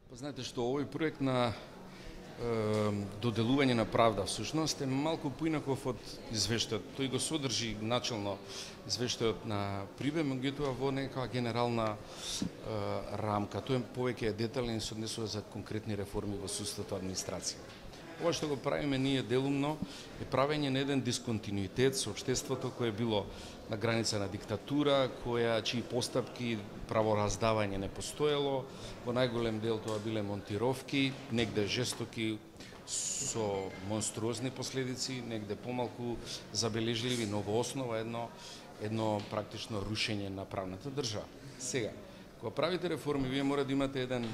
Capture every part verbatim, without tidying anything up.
Па знаете што, овој проект на е, доделување на правда всушност е малку поинаков од извештајот. Тој го содржи начално извештајот на Прибе, меѓутоа во некаква генерална е, рамка. Тој повеќе е детален и се однесува за конкретни реформи во судството, администрација. Ова што го правиме ние делумно е правење на еден дисконтинуитет со општеството кое било на граница на диктатура, која чии постапки правораздавање не постоело, во најголем дел тоа биле монтировки, негде жестоки со монструозни последици, негде помалку забележливи, но во основа едно едно практично рушење на правната држава. Сега, кога правите реформи, вие мора да имате еден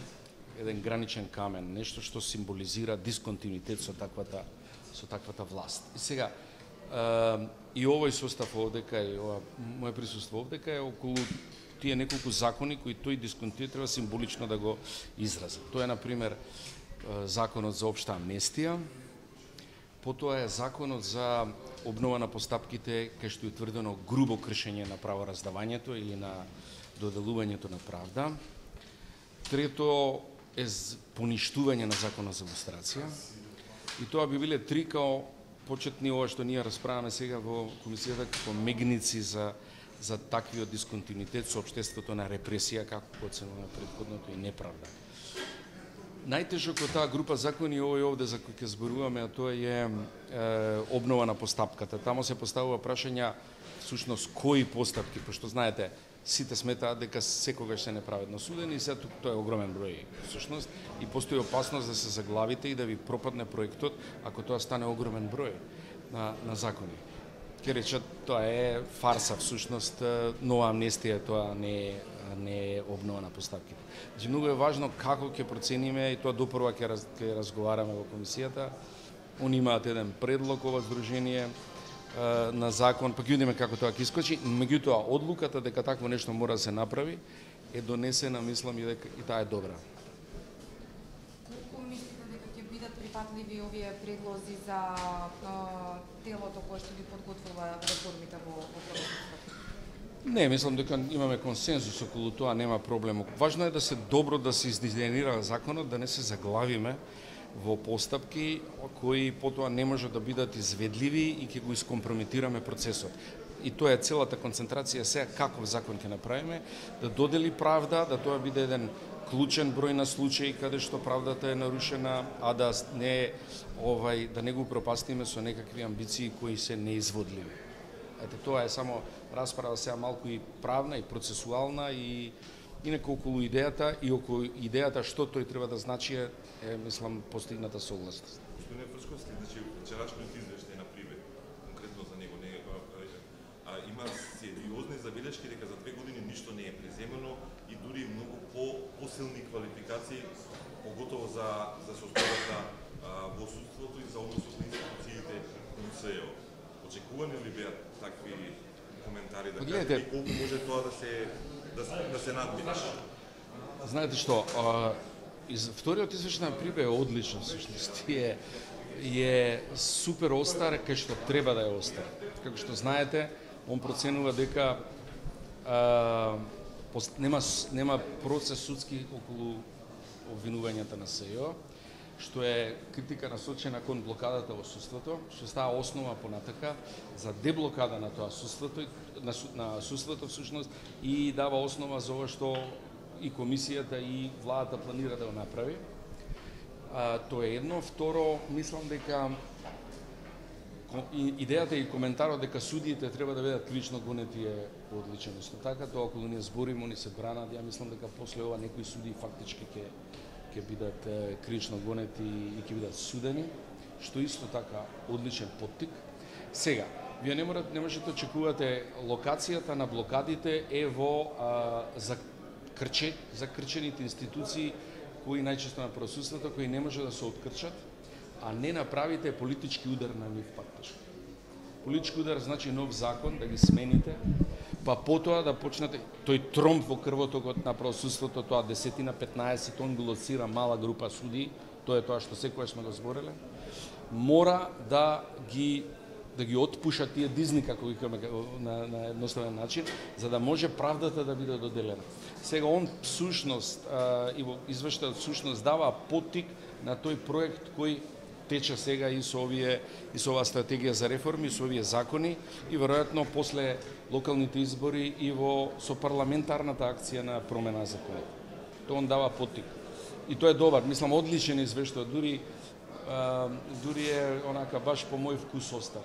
еден граничен камен, нешто што символизира дисконтинуитет со таквата со таквата власт. И сега е, и овој состав овдека и ова моје присуство овдека е околу тие неколку закони кои тој дисконтинуитет треба символично да го изрази. Тоа е на пример законот за општа амнестија, потоа е законот за обнова на постапките кај што е утврдено грубо кршење на правораздавањето или на доделувањето на правда. Трето е поништување на законот за лустрација. И тоа би биле три као почетни ова што ние расправаме сега во комисијата како мегници за за таквиот дисконтинуитет со општеството на репресија како оценува претходното и неправда. Најтежок од таа група закони овој овде за кој ќе зборуваме, а тоа е, е обнова на постапката. Тамо се поставува прашања всушност кои постапки, пошто знаете сите сметаат дека секогаш се неправедно судени и се тоа е огромен број всушност и постои опасност да се заглавите и да ви пропадне проектот ако тоа стане огромен број на на закони. Ке речат тоа е фарса всушност, нова амнестија, тоа не е не е обнова на постапките. Значи многу е важно како ќе процениме и тоа допрва ќе раз, ќе разговараме во комисијата. Они имаат еден предлог ова здружение на закон, па ќе видиме како тоа ќе искочи, меѓутоа одлуката дека такво нешто мора да се направи е донесена, мислам, и дека и таа е добра. Колку мислите дека ќе бидат прифатливи овие предлози за а, телото кое што ги подготвува реформите во правосудството? Не, мислам дека имаме консензус околу тоа, нема проблем. Важно е да се добро да се издизајнира законот, да не се заглавиме во постапки кои потоа не може да бидат изведливи и ќе го искомпрометираме процесот. И тоа е целата концентрација сега каков закон ќе направиме, да додели правда, да тоа биде еден клучен број на случаи каде што правдата е нарушена, а да не овај да не го пропастиме со некакви амбиции кои се неизводливи. Ете, тоа е само расправа сега малку и правна и процесуална и инаку околу идејата и околу идејата што тој треба да значи е, е мислам постигната согласност. Господине Фршковски, значи вчерашниот извештај на Прибе, конкретно за него не а, а, има сериозни забелешки дека за две години ништо не е преземено и дури многу по посилни квалификации, поготово за за состојбата во судството и за односот на институциите на СЕО. Очекувани ли беа такви коментари да кажете и колку може тоа да се да се, да се надмине? Знаете што, а, из, вториот извештај на Прибе е одличен всушност. Е е супер остар кај што треба да е остар. Како што знаете, он проценува дека а, пост, нема нема процес судски околу обвинувањата на СЕО, што е критика насочена кон блокадата во судството, што става основа понатака за деблокада на тоа судството, на, на судството всушност и дава основа за ова што и комисијата и владата планира да го направи. А, тоа е едно. Второ, мислам дека идејата и коментарот дека судиите треба да бидат кривично гонети е одличен. Исто така, тоа околу ние збориме, они се бранат, ја мислам дека после ова некои судии фактички ќе ќе бидат кривично гонети и ќе бидат судени, што исто така одличен поттик. Сега, вие не можете не можете да очекувате локацијата на блокадите е во а, за крче за крчените институции кои најчесто на правосудството кои не може да се открчат, а не направите политички удар на нив фактички. Политички удар значи нов закон да ги смените, па потоа да почнете тој тромб во крвотокот на правосудството, тоа десетина, петнаесет, он го лоцира мала група судии, тоа е тоа што секогаш сме го збореле, мора да ги да ги отпуша тие дизни, како викаме на, на едноставен начин, за да може правдата да биде доделена. Сега он всушност и во извештајот всушност дава поттик на тој проект кој тече сега и со овие и со оваа стратегија за реформи, со овие закони и веројатно после локалните избори и во со парламентарната акција на промена на законот. Тоа он дава поттик. И тоа е добар, мислам одличен извештај, дури а, дури е онака баш по мој вкус остан.